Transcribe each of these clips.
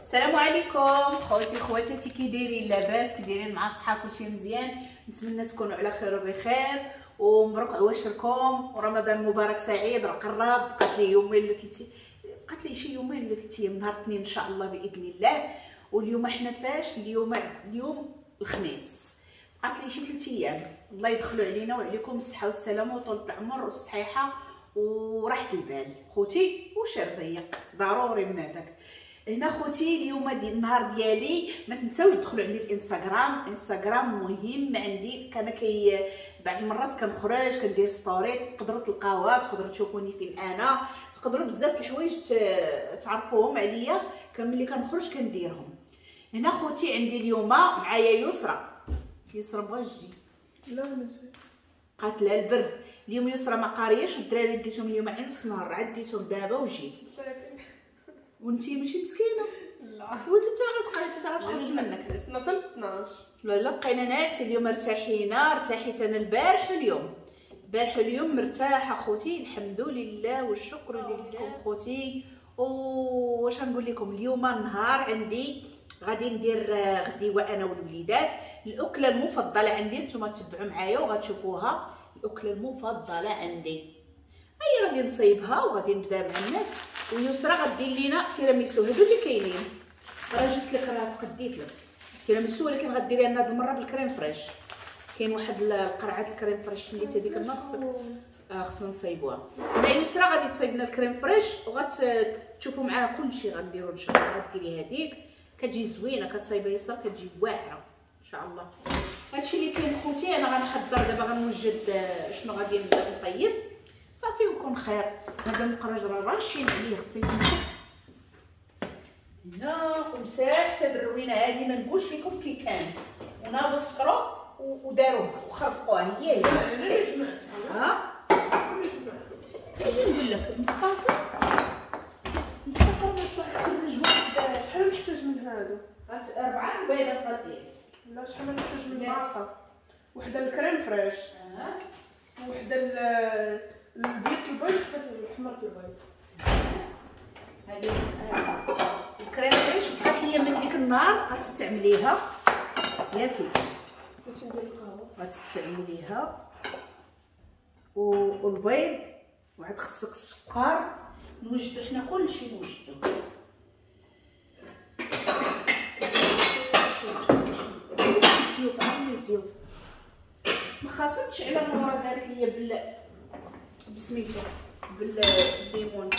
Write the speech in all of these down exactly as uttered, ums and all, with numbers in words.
السلام عليكم خوتي خواتاتي، كي دايرين؟ لاباس؟ كي دايرين مع الصحة؟ كلشي مزيان؟ نتمنى تكونوا على خير وبخير، ومبروك عواشركم ورمضان مبارك سعيد. راه قرب، بقات لي يومين ولا ثلاث، بقات لي شي يومين ولا ثلاث ايام، نهار الاثنين ان شاء الله باذن الله. واليوم حنا فاش؟ اليوم اليوم الخميس، بقات لي شي ثلاث ايام. الله يدخلوا علينا وعليكم الصحة والسلامة وطول العمر والصحيحه وراحة البال خوتي، وشي رزيق ضروري من هذاك. هنا خوتي اليوم ديال النهار ديالي، ما تنساوش تدخلوا عندي الانستغرام، انستغرام مهم عندي. كان كي بعض المرات كنخرج كندير story، تقدروا تلقاوها، تقدروا تشوفوني فين انا، تقدروا بزاف الحوايج تعرفوهم عليا ملي كنخرج كنديرهم. هنا خوتي عندي اليوم معايا يسرى. يسرى بغات تجي؟ لا ماشي، قاتلها البرد اليوم. يسرى ما قارياش، والدراري ديتهم اليوم عند النهار، عاد ديتهم دابا وجيت. وانتي ماشي مسكينه؟ لا، وانت حتى غتقري حتى غتخرج منك. نصل اثناش. لا لا، بقينا ناعسين اليوم، ارتاحينا، ارتاحيت انا البارح واليوم، البارح واليوم مرتاحة خوتي، الحمد لله والشكر لله خوتي. واش غنقول لكم، اليوم النهار عندي غادي ندير غديوه انا والوليدات. الاكلة المفضلة عندي، نتوما تبعوا معايا وغتشوفوها. الاكلة المفضلة عندي هي غادي نصايبها وغادي نبدا مع الناس. ويسرى غدير لينا تيراميسو، هادو اللي كاينين راه جبت لك، راه تقديت لك تيراميسو، ولكن غديريها لنا هاد المرة بال crème fraîche. كاين واحد القرعة ال crème fraîche حليت هذيك النهار، خصك آه خصنا نصايبوها. هنا يسرى غادي تصايب لنا ال crème fraîche وغتشوفوا معاها كلشي غنديرو ان شاء الله. غديري هذيك كتجي زوينة، كتصايبها يسرى كتجي واعرة ان شاء الله. هادشي اللي كاين خوتي. انا غنحضر دابا، غنوجد شنو غادي نبدا نطيب صافي ويكون خير. هذا المقرج راه راشين عليه، خصو يتمسح هنا. ومساحة هاد الروينه هادي ما نقولش لكم كي كانت، وناضوا فطروا وداروها وخربقوها. هي هي انا اللي جمعتها. ها شكون اللي جمعتها؟ اجي نقول لك، مصطفى مصطفى راه خرج واحد. شحال نحتاج من هادو؟ اربعة البيضات غدير. لا، شحال نحتاج من باصة؟ وحده ال crème fraîche، اه وحده البيض البيض، وحده الحمر البيض. هذه ال crème fraîche بقات ليا من ديك النهار، غتستعمليها ياكي؟ ندير القهوة غتستعمليها. والبيض، وعاد خصك السكر. نوجدو حنا كلشي، نوجدو الزيوف، عامل الزيوف. ما خاصتش على نورا، دارت ليا بال بسميتو بالليمون.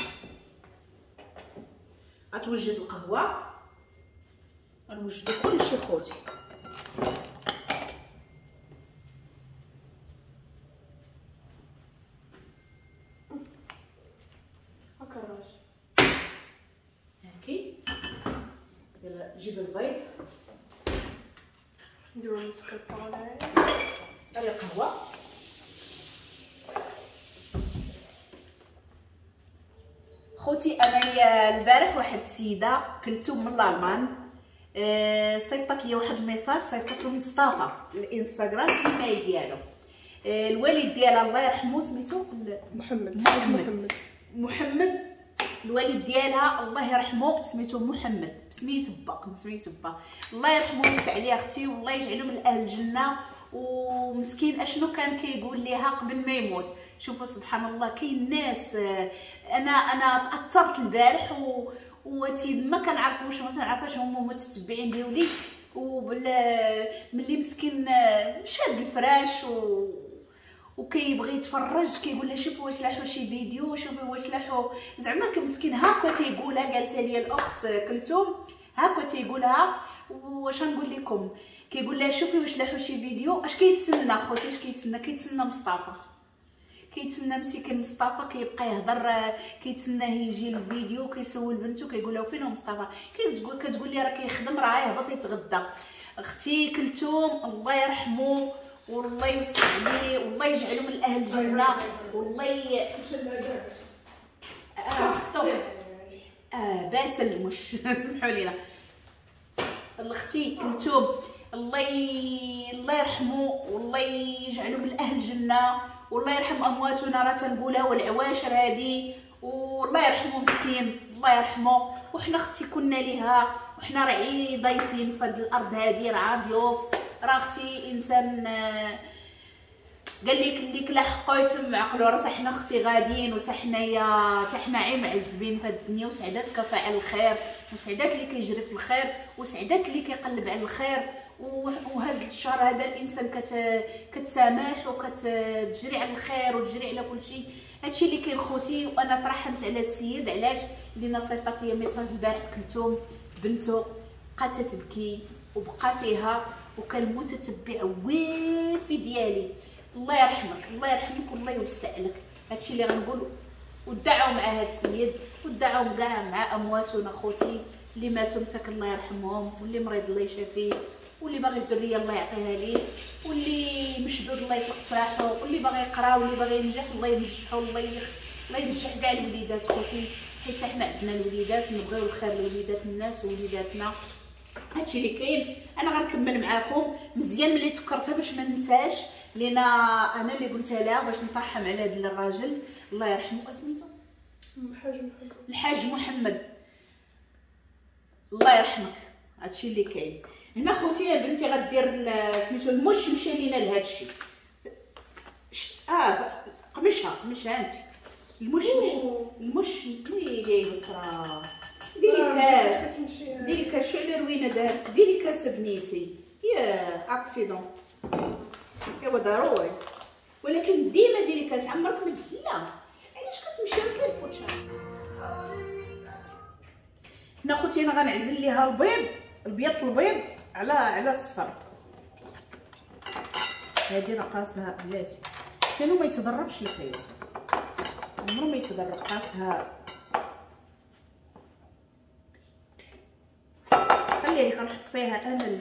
غتوجد القهوة، غنوجدو كلشي خوتي. هاكا الراج هاكي. يلا جيب البيض، نديرو المسكربونه. هاي القهوة. خوتي انا البارح واحد السيدة كلتو من الالمان، أه صيفطت لي واحد ال message، صيفطته مصطفى الانستغرام الايميل ديالو. أه الوالد ديالها الله يرحمه سميتو محمد. محمد محمد الوالد ديالها الله يرحمه سميتو محمد، بسميت با، سميت با، الله يرحمه ويوسع عليه اختي، والله يجعله من اهل الجنة. ومسكين اشنو كان كيقول ليها قبل ما يموت. شوفوا سبحان الله، كاين ناس. انا انا تاثرت البارح و وتي ما كنعرفوش، ما تنعرفاش هما متتبعين ديالي. وبال ملي مسكين شاد الفراش و وكيبغي يتفرج، كيقول لها شوفوا واش لاحوا شي فيديو، شوفوا واش لاحوا، زعما مسكين هاكا تيقولها. قالتها لي الاخت كلثوم هاكا تيقولها. واش نقول لكم، كيقول لها شوفي واش لاحوا شي فيديو. اش كيتسنى خوتي؟ اش كيتسنى؟ كيتسنى مصطفى، كيتسنى مسكين مصطفى، كيبقى يهضر، كيتسناه يجي الفيديو، كيسول بنته كيقول لها فين هو مصطفى؟ كتقول كتقول لي راه كيخدم، راه يهبط يتغدى. اختي كلثوم الله يرحمه والله يوسع عليه والله يجعله من اهل الجنة، والله ي... اه اه باسل مش سمحوا لينا. اختي كلثوم الله ي... الله يرحمه والله يجعله من اهل الجنة، والله يرحم امواتنا، راه تنقولها، والعواشر هادي، والله يرحمه مسكين. الله يرحمه. وحنا اختي كنا ليها، وحنا راه ضيفين في هاد الارض هادي، راه ضيوف. راه اختي انسان قال لك اللي كلا حقو يتم عقلو، راه حتى حنا اختي غاديين، وتا حنايا حتى حنا عي معذبين في هاد الدنيا. وسعدات كفاعل الخير، وسعدات اللي كيجري في الخير، وسعدات اللي كيقلب على الخير. وهذا الشهر هذا الانسان كت كتسامح وكتجري على الخير وتجري على كل شيء. هادشي اللي كاين خوتي. وانا ترحمت على هاد السيد، علاش؟ لينا صيفطات ليا message البارح كلثوم بنتو بقات تبكي وبقى فيها، وكان متتبع وافي ديالي. الله يرحمك، الله يرحمك والله يوسع لك. هادشي اللي غنقول. ودعوا مع هاد السيد، ودعوا كاع مع امواتنا خوتي اللي ماتوا مساك الله يرحمهم، واللي مريض الله يشافيه، واللي باغي الذرية الله يعطيها ليه، واللي مشدود الله يطلق سراحو، واللي باغي يقرا واللي باغي ينجح الله ينجحو، الله يخ... الله ينجح كاع الوليدات خوتي، حيت حنا عندنا الوليدات نبغيو الخير لوليدات الناس ووليداتنا. هادشي اللي كاين. انا غنكمل معاكم مزيان ملي تفكرتها باش ما ننساش، لينا انا اللي قلتها لها باش نطرحم على هذا الراجل الله يرحمه. اسميتو الحاج محمد. الحاج محمد الله يرحمك. هادشي اللي كاين هنا خوتي. يا بنتي غدير سميتو المش مشى لينا لهادشي. اه قمشها قمشها انت المش مش المش ويلي يا يسرا. ديري كاس، ديري كاس. شو على روينه دارت؟ ديري كاس بنيتي. يا accident ايوا ضروري، ولكن ديما ديري كاس، عمرك ما لا. علاش كتمشي راه كنفوتها هنا خوتي. انا غنعزل ليها البيض، البيض البيض على على الصفر. هادي راه قاسها بلاتي شنو ما يتضربش القياس، عمرو ما يتضرب. قاسها خليها لي كنحط فيها انا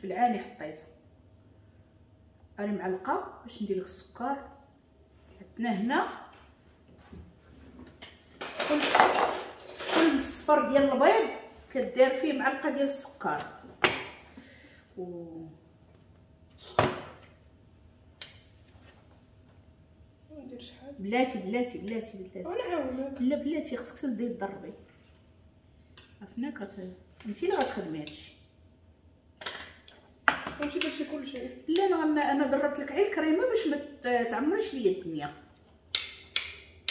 بالعاني، حطيتها انا معلقه باش ندير لك السكر. عندنا هنا كل كل الصفر ديال البيض كدير فيه معلقه ديال السكر. و ندير شحال؟ بلاتي بلاتي بلاتي بلاتي ونعاونك. لا بلاتي خصك تبداي تضربي. عرفنا كت انت اللي غتخدمي هادشي. ماشي درتي كلشي. لا انا انا ضربت لك غير الكريمة باش ما تعمريش ليا الدنيا.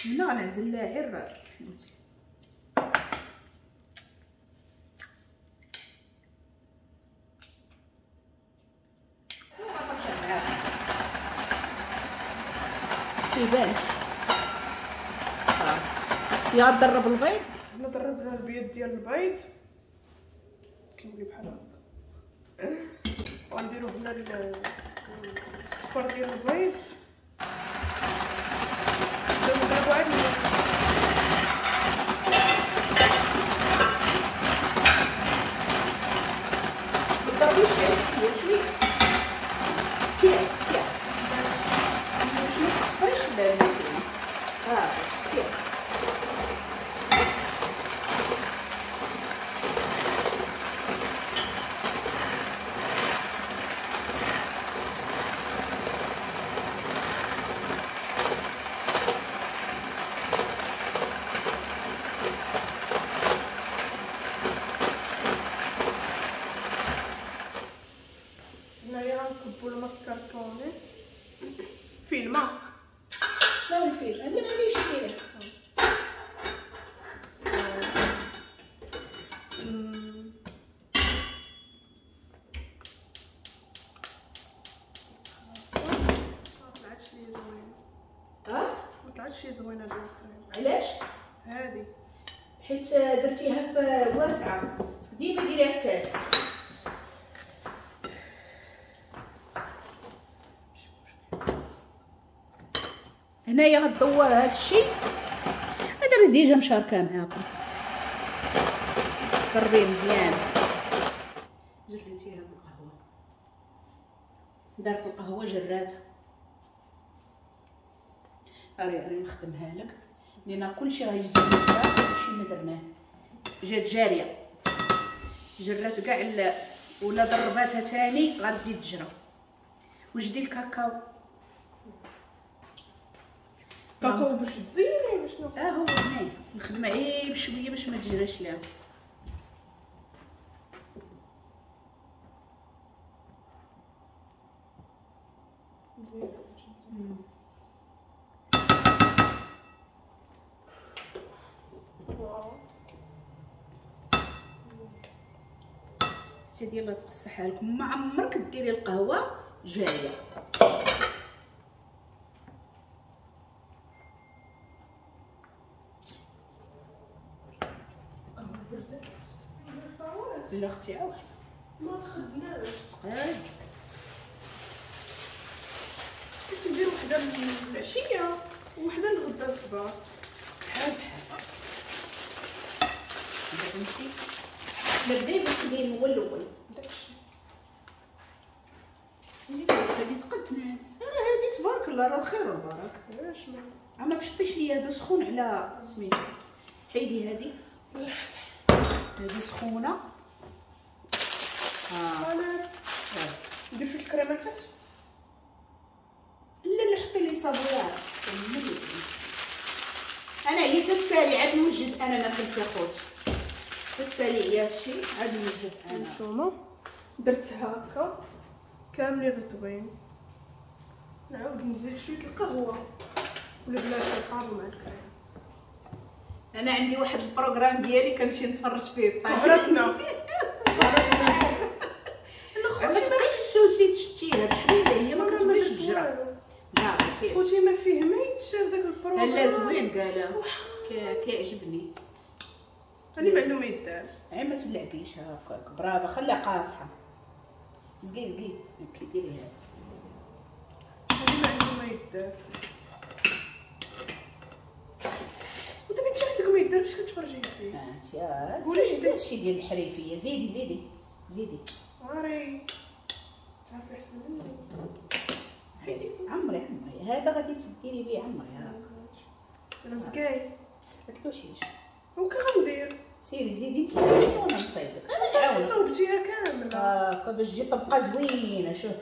هنا غنعزل لها غير فهمتي. كيبانش يا ضرب البيض. حنا ضربنا البيض ديال البيض كيولي بحال هكا، وغنديرو هنا الصفر ديال البيض. نبداو نضربو عاد ما تضربيش شوية شوية، تكيع تكيع باش ما تخسريش الماكينة. ها تكيع هنايا غنكبو الماسكاربوني فيه الماء. شنو الفيل؟ انا مانيش فيه. ما طلعتش لي زوينة. ها؟ ما طلعتش لي زوينة ديال الكريم. علاش؟ هادي حيت درتيها في واسعة، ديما ديريها في كاس. هنايا غدور هادشي هذا راه déjà مشاركة معاكم. ضربيه مزيان. جريتيها بالقهوة، دارت القهوة جراتها. اري اري نخدمها لك لان كلشي غيجي جا، كلشي ما درناه جات جارية. جرات كاع ولا ضرباتها تاني غتزيد تجرى. وجدي الكاكاو. كاكاو باش تزيني باش شنو؟ اه هو هنايا نخدم غير بشوية باش ما تجراش ليها. مزيان. سيدي الله تقصحها لكم، ما عمرك ديري القهوة جارية. لا اختي عاود ما تخدناش تقاد. كنت ندير وحده العشية وحده الغدا الصباح بحال بحال. فهمتي؟ نبداي بالكبير هو الاول داكشي غادي تقدنا. راه هادي تبارك الله راه الخير والبركة. علاش ما ما تحطيش ليا هذا سخون على سميتو، حيدي هادي هادي سخونة. اه انا ندير شوية الكريمة لتحت. لا لا حطي لي savoyards. انا هي تتسالي عاد نوجد انا ماكلتي اخوتي، تتسالي عليا هادشي عاد نوجد انا. نتوما درت هكا كاملين رطبين، نعاود نزيد شوية القهوة ولا بلا القهوة مع الكريم. انا عندي واحد ال programme ديالي كنمشي نتفرج فيه. قهرتنا ما تبقيش تسوسي تشتيها بشوية، هي ما كتبغيش تجرى. لا سير خوتي ما فيه ما يتشاف داك ال programme. لا زوين قالها كيعجبني. هاني معلومة يدار عي ما تلعبيش هكاك. برافو خليها قاصحة. زقي زقي كي ديري هذا. هاني معلومة يدار. ودابا انت عندك ما يدار باش كتفرجي فيه. انت قولي داكشي ديال الحريفيه. زيدي زيدي زيدي. عاري تعرفي احسن مني. حيدي عمري عمري هذا غادي تديري به عمري هاكا. رزقاي ما تلوحيش. وكي غندير؟ سيري زيدي انت زيدي وانا نصايبك. انا نعاون. صوبتيها كاملة هاكا باش تجي طبقه زوينة. شوف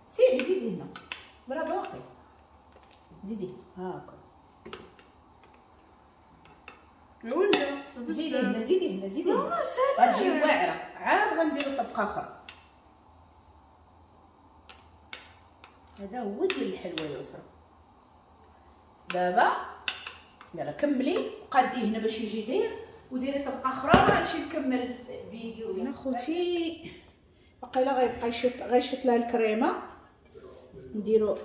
سيري زيدي هنا. برافو باقي زيدي هاكا. ولا زيدي هنا زيدي هنا زيدي هنا. غتجي واعرة. عاد غنديرو طبقه اخرى. هذا هو ديال الحلوة يسرا. دابا يلا كملي وقادي هنا باش يجي داير، وديري طبقه اخرى. غنمشي نكمل الفيديو هنا خوتي. باقي لا غيبقى يشط غيشط لها الكريمة. نديرو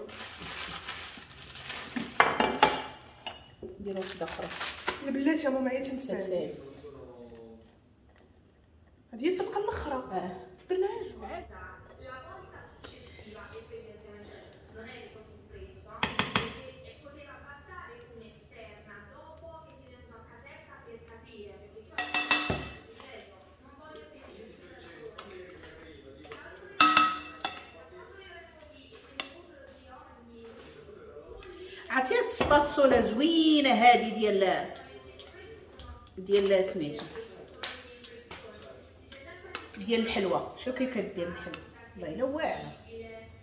نديرو وحده اخرى. بلاتي ماما عيات نسالي. هذه هي الطبقة الاخرى. اه درناها جوج. عرفتي هاد السباتسولا زوينة هادي ديال ديال سميتو ديال الحلوة. شو كي كدير الحلوة والله الا واعرة.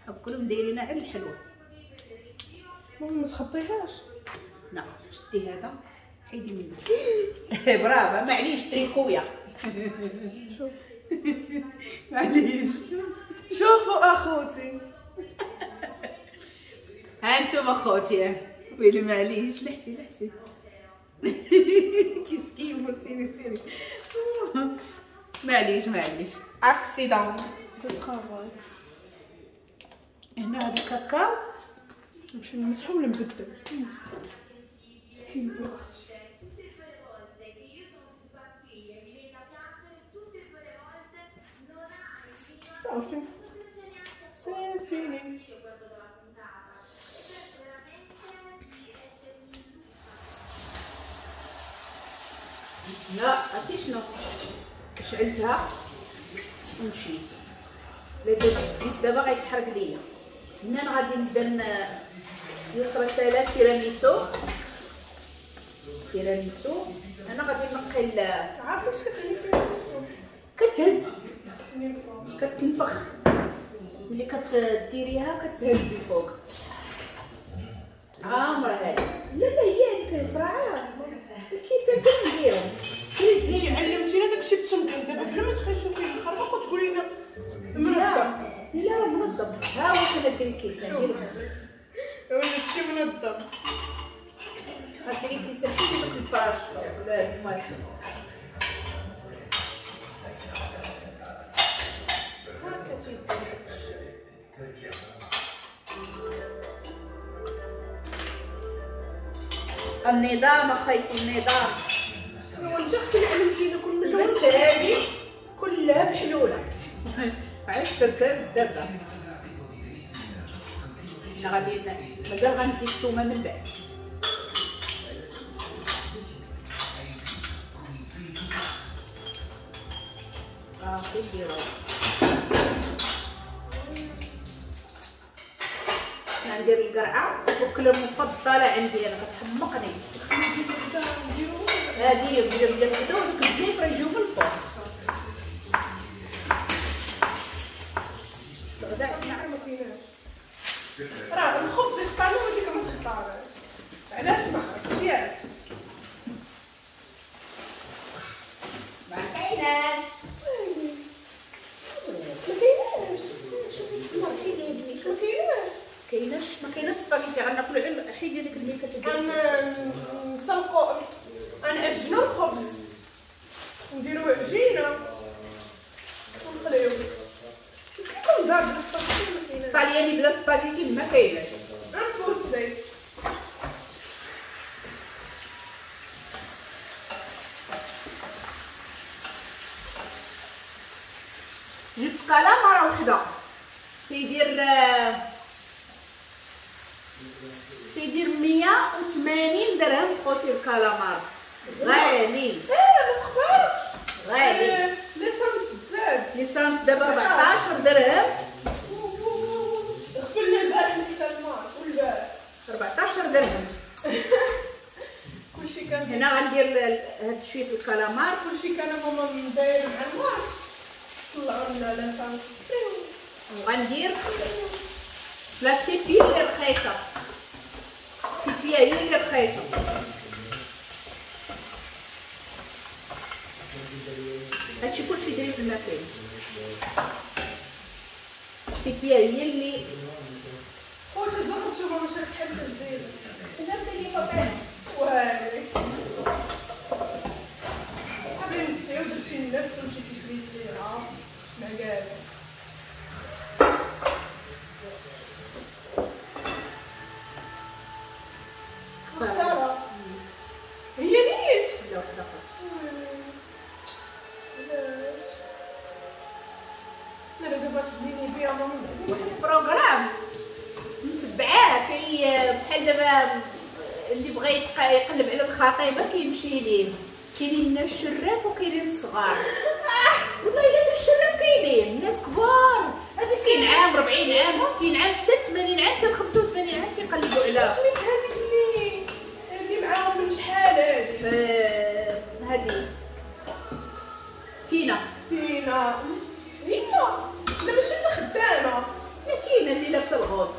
حق كلهم دايرينها على الحلوة. ما تخطيهاش. لا شدي هذا حيدي منه. برافو معليش تريكويا. شوف معليش. شوفوا اخوتي. ها انتم اخوتي. ويلي معليش لحسي لحسي. كيسكيفو. سيري سيري معليش معليش. accident de travail. هنا هذا الكاكاو نمشي نمسحو ولا نبدل؟ كيبرد اختي. صافي c'est fini. لا عرفتي شنو؟ شعلتها ومشيت. لا درت الزيت دابا غيتحرق ليا. هنا انا غادي نبدا يسرى سالا تيراميسو. تيراميسو انا غادي نقي. عارفه واش كتعني تيراميسو؟ كتهز كتنفخ ملي كتديريها كتهز الفوق. عامرة هذه. لا لا هي هذيك صراعه الكيسان كنديرهم. انتي علمتينا داكشي بالتنظيم دابا بلا ما تخيشو فيه الخربق وتقولي لنا منظم. لا راه منظم، ها هو كندير الكيسان ديالو هادشي منظم. غديري الكيسان حيدي دوك الفراش ولا المواسم. هاكا تيدير النظام اخيتي النظام. وانت اختي اللي علمتينا كل من بس هذه كلها محلولة. علاش درتها بالدرده؟ حنا غادي مازال غنزيد الثومه من بعد. صافي نديرو ندير القرعة، الاكلة المفضلة عندي انا كتحمقني. هذه ندير ديال الغدا ودوك الزيت راه يجيو من الفوق. الغدا عندنا ما كايناش، راه الخبز يختارو وهاديك ما تختارش. علاش ما عرفتش ياك؟ ما كايناش ما كايناش. شوفي التمر كاين ما كايناش كايناش ما كايناش سباغيتي غناكلو غير حيدي ديك الميكه تدير. غنسلقو غنعجنو الخبز نديرو عجينه ونقليو. كيكون دار بلا سباغيتي ما كايناش. الطالياني بلا سباغيتي ما كايناش. impossible. جبت كلامره وحده تيدير تيدير مية وثمانين درهم خوتي الكلامار. غالي. ايه ما تخبرش غالي. l'essence تزاد، l'essence دابا أربعطاش درهم. غفلنا البارح الكلامار والبارح أربعطاش درهم. كلشي كان هنا غندير هاد شوية الكلامار. كلشي كان ماما داير مع الماتش طلعوا لنا l'essence. وغندير la sépia اللي رخيصة، sépia هي اللي رخيصة. هادشي كلشي داير في الماكلة. sépia هي اللي خوتي زرتو ماما شرات حبه جديدة. جابت لي بابا وهاي حبيبتي ودرتي النفس ومشيتي شريتيها مع كاع. اختارها هي نيت. لا وحده اخرى. علاش؟ لا دابا تبنيني بيها ماما واحد ال programme متبعاه كي بحال دابا اللي بغى يقلب على الخطيبه كيمشي ليه. كاينين الناس الشراف وكاينين الصغار. والله الا حتى الشراف كاينين الناس كبار، تسعين عام أربعين عام ستين عام حتى ثمانين عام حتى خمسة وثمانين عام تيقلبوا على سميت هذيك اللي اللي معاهم من شحال هادي. هادي تينا. تينا هي لا ماشي اللي خدامه، لا تينا اللي لابسه الغوط.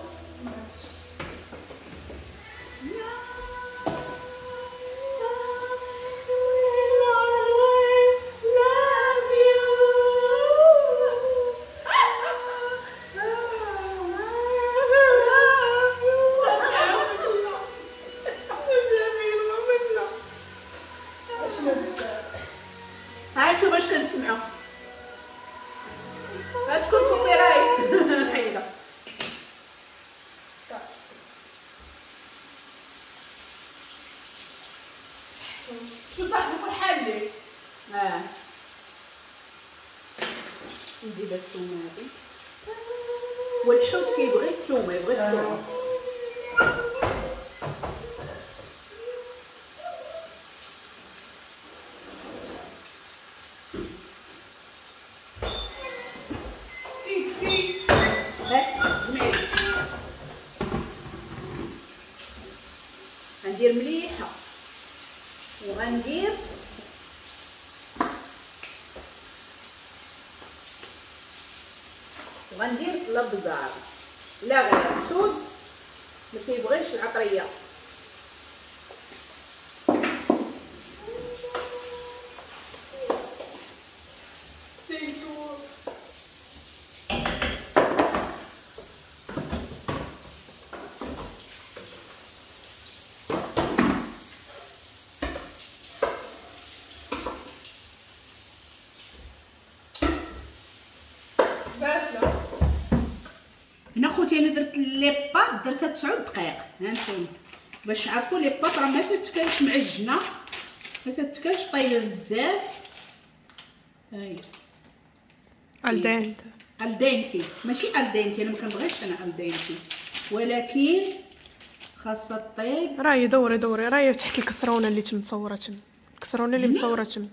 ها انتم باش كنسمعوا غتكون copyright حيده. شو صاحبي فرحان لي. اه نزيد الثومه هادي، والحوت كيبغي الثومه، يبغي الثومه. غندير مليحة وغندير وغندير البزار، لا غير الحوت ما تيبغيش العطريه. هنا خوتي انا درت les pâtes درتها تسعة دقائق، ها نتوما باش تعرفوا les pâtes راه ما تتكلش معجنه، ما تتكلش طايبه بزاف. هاي al dente al dente ماشي al dente، انا ما كنبغيش انا al dente، ولكن خاصها طيب. راهي دوري دوري راهي تحت الكسرونه اللي تم مصوره تم، الكسرونه اللي مصوره تم.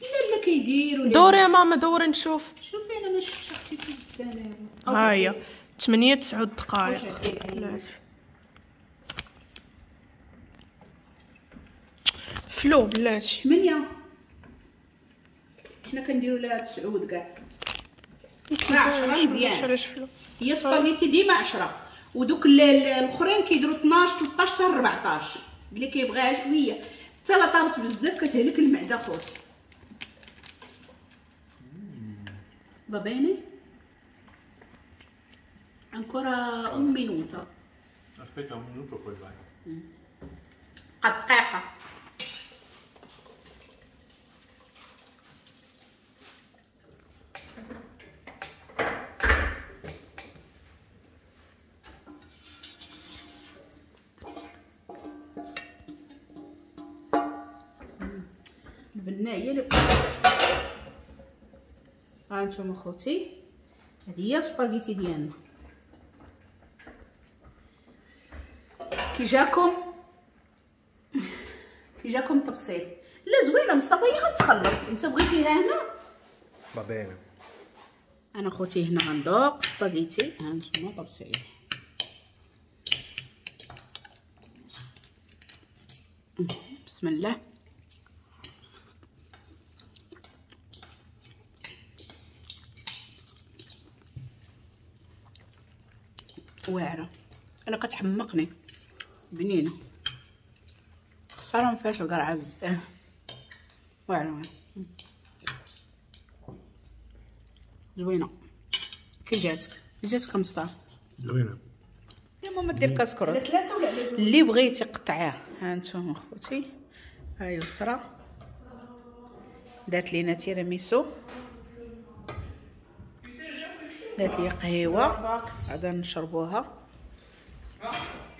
لا لا كيديروا دوري يا ماما دوري نشوف. شوفي انا ما شفتش اختي كيف انا. ها هي ثمانية تسعة دقائق. فلو بلاتي ثمانية، حنا كنديروا لها تسعود كاع عشرة مزيان. هي سباغيتي ديما عشرة، ودوك الاخرين كيديروا اثناش ثلاثطاش حتى أربعطاش، اللي كيبغيها شوية. حتى لا طابت بزاف كتهلك المعدة خوتي. Va bene? Ancora un minuto. Aspetta un minuto poi vai. بقى دقيقة. البنة هي اللي ها نتوما خوتي، هذه هي سباغيتي ديالنا. كي جاكم كي جاكم التبسيط؟ لا زوينة مصطفى، هي غتخلط. انت بغيتيها هنا va bene. انا خوتي هنا غندوق سباغيتي. ها نتوما طبسيل. بسم الله. واعرة انا كتحمقني، بنينه، خسارة ما فيهاش القرعة بزاف. واعرة زوينة. كي جاتك؟ كي جاتك مصطفى؟ زوينة. يا ماما دير كاسكروت على ثلاثة ولا على جوج اللي بغيتي قطعية. ها نتوما خوتي، ها يسرى دارت لينا تيراميسو، دارت لي قهوة غادا نشربوها.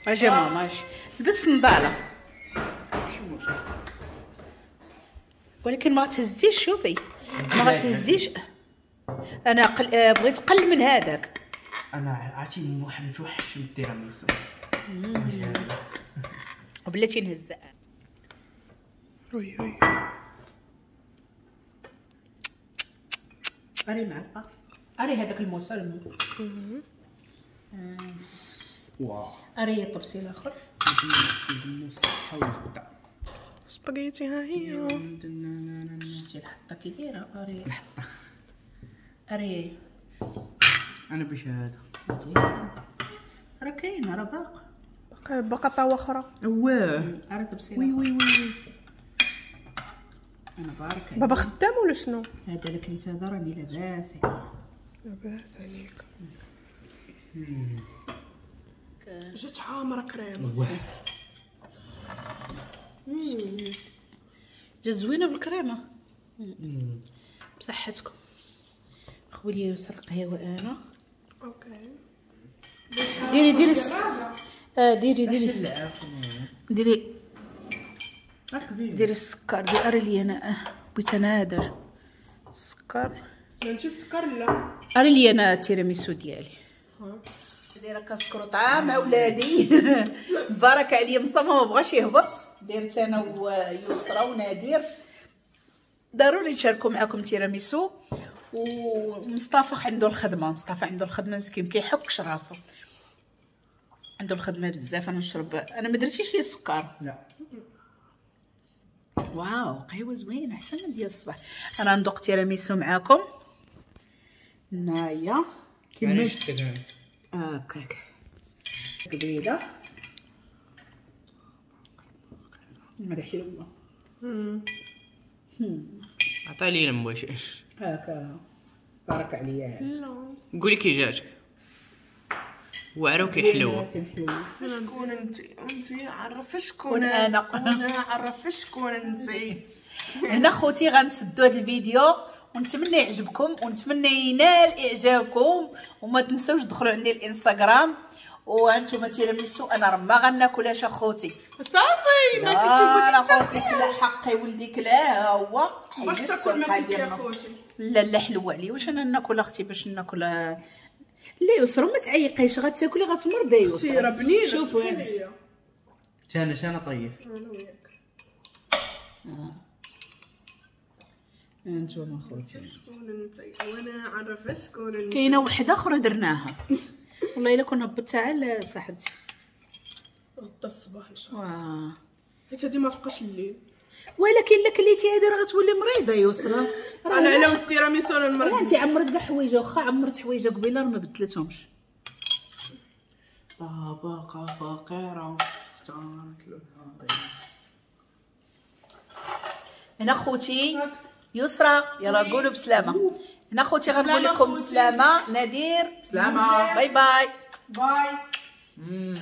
اجي ماما اجي لبس النضاله، ولكن ما تهزيش. شوفي ما غتهزيش. انا قل... بغيت قل من هذاك. انا عرفتي واحد متوحش من التيراميسو بلاتي نهزها. oui oui اري معلقه، اري هذاك الموس. واو اري الطبسي الاخر. سباغيتي ها هي. شتي الحطه كي دايرة. اري الحطه، اري انا باش هذا راه كاين، راه باق باقا باقا طاوه اخرى. واه اري طبسي. oui oui oui انا بارك. بابا خدام ولا شنو؟ هذا اللي كليت هذا راني لاباس عليه. لاباس عليك. جات عامرة كريمة. واه جات زوينة بالكريمه. بصحتكم. خوي لي يسر القهوة انا. OK ديري ديري اه ديري ديري ديري ديري السكر. ديري اري لي انا، بغيت انا هذا السكر. ماشي السكر لا، اري لي انا التيراميسو ديالي. دايرة كاسكروطه مع ولادي. بارك عليا مصطفى ما بغاش يهبط. درت انا ويسرى ونادر ضروري نشاركوا معكم تيراميسو. ومصطفى عنده الخدمة، مصطفى عنده الخدمة مسكين كيحكش راسو، عنده الخدمة بزاف. انا نشرب، انا ما درتيش لي السكر. لا واو قهوة زوينة احسن من ديال الصباح. انا ندوق تيراميسو معاكم هنايا كما هكاك قبيلة. مرة حلوة. عطي لي لمواش هاكا بارك عليا. لا قولي كي جاتك. واعرة وكي حلوة. شكون انت؟ انت عرف شكون كون انا. انا عرف شكون انت. هنا خوتي غنسدو هذا الفيديو ونتمنى يعجبكم ونتمنى ينال اعجابكم، وما تنسوش تدخلوا عندي الانستغرام. وانتم تيراميسو انا راه ما غناكلهاش اخوتي. صافي ما لا كتشوفوش خوتي كلا حقي ولدي كلاه هو. باش تاكل ما كنتي يا خوتي. لا لا حلوة عليا. واش انا ناكل اختي باش ناكل؟ لا يسرا ما تعيقيش، غتاكلي غتمرضي يسرا. راه بنينه. شوفوا انت. انا انا طريف. انا وياك. انتم اخوتي شكون انت وانا عرف شكون انت. كاينه وحده اخرى درناها والله الا كون هبطتها على صاحبتي غدا الصباح ان شاء الله. واه حيت هادي ما تبقاش الليل. ولكن الا كليتي هادي راه غتولي مريضه يسرا. راه انا على التيراميسو انا لا المرض. انت عمرت كاع حوايجها، واخا عمرت حوايجها قبيلة راه ما بدلتهمش. طبقة فقيرة. هنا خوتي يسرا يلا قولوا بسلامه. هنا خوتي غنقول لكم بسلامه. نادير سلامه. bye bye. bye. مم.